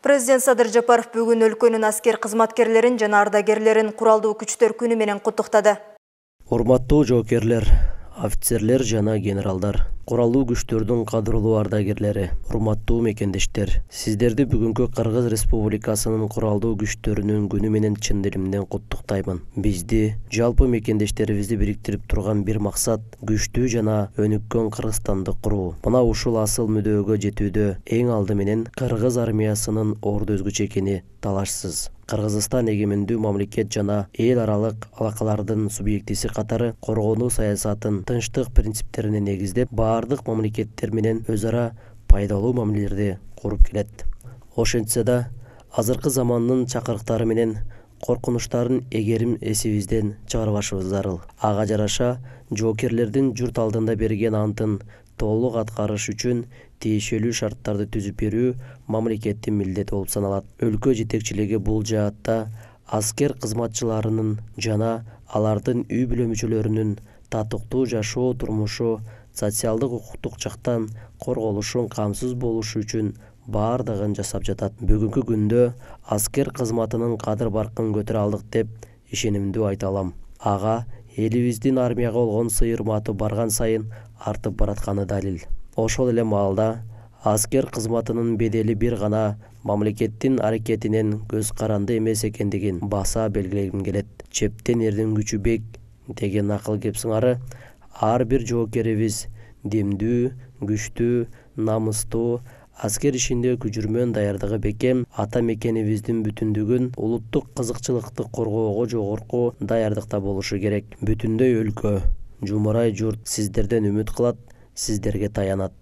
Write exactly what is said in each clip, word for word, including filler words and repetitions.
Президент Садыр Жапаров бүгүн өлкөнүн аскер кызматкерлерин жана ардагерлерин Куралдуу күчтөр күнү менен куттуктады. Урматтуу жоокерлер, офицерлер жана генералдар, куралдуу күчтөрдүн кадырлуу ардагерлери, урматтуу мекендештер, сиздерди бүгүнкү Кыргыз Республикасынын куралдуу күчтөрүнүн күнү менен чын диlimден куттуктаймын. Бизди, жалпы мекендештерибизди бириктирип турган бир максат күчтүү жана өнүккөн Кыргызстанды куруу. Мына ушул асыл мүдөөгө жетүүдө эң алды менен Кыргыз армиясынын орду өзгөчө экени талашсыз. Кыргызстан эгемендүү мамлекет жана эл аралык алакалардын субъектиси катары коргонуу саясатын тынчтык принциптерине негиздеп, баардык мамлекеттер менен өз ара пайдалуу мамилелерди куруп келет. Ошентсе да, азыркы замандын чакырыктары менен коркунучтарын эгерим эсибизден чыгарбашыбыз зарыл. Ага жараша жоокерлердин журт алдында берген антын толук аткарыш үчүн тиешелүү шарттарды түзүп берүү мамлекеттин милдети болуп саналат. Өлкө жетекчилиги бул жаатта аскер кызматчыларынын жана алардын үй бүлө мүчөлөрүнүн татыктуу жашоо турмушу, социалдык укуктук жактан корголушун камсыз болушу үчүн баардыгын жасап жатат. Бүгүнкү күндө аскер кызматынын кадыр баркын көтөрө алдык деп ишенимдүү айта алам. Ага элибиздин армияга болгон сый-урматы барган сайын артып баратканы далил. Ошол эле маалда аскер кызматынын бедели бир гана мамлекеттин аракетинен көз каранды эмес экендигин баса белгилегим келет. Чептен эрдин күчү бек деген акыл кеп сыңары ар бир жоокерибиз демдүү, күчтүү, намыстуу, аскер ишинде күжүрмөн даярдыгы бекем, ата мекенибиздин бүтүндүгүн, улуттук кызыкчылыкты коргоого жогорку даярдыкта болушу керек. Бүтүндөй өлкө, жумурай журт сиздерден үмүт кылат, сиздерге таянат.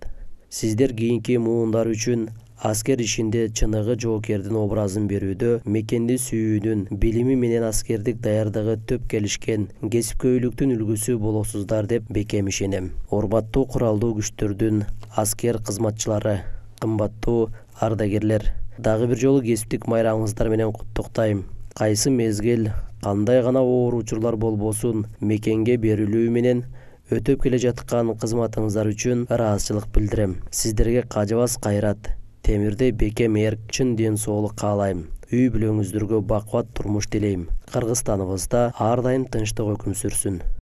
Сиздер кийинки муундар үчүн аскер ишинде чыныгы жоокердин образын берүүдө, мекенди сүйүүнүн, билими менен аскердик даярдыгы төп келишкен кесипкөйлүктүн үлгүсү болосуздар деп бекем ишенем. Урматтуу куралдуу күчтөрдүн аскер кызматчылары, кымбаттуу ардагерлер, дагы бир жолу кесиптик майрамыңыздар менен куттуктайм. Кайсы мезгил, кандай гана оор учурлар болбосун, мекенге берилүү менен өтөп келе жаткан кызматыңыздар үчүн ыраазычылык билдирем. Сиздерге кажабас кайрат, темирдей бекем эрк, чын ден соолук каалайм. Үй бүлөңүздөргө бакубат турмуш тилейм. Кыргызстаныбызда ар дайым тынчтык өкүм сүрсүн.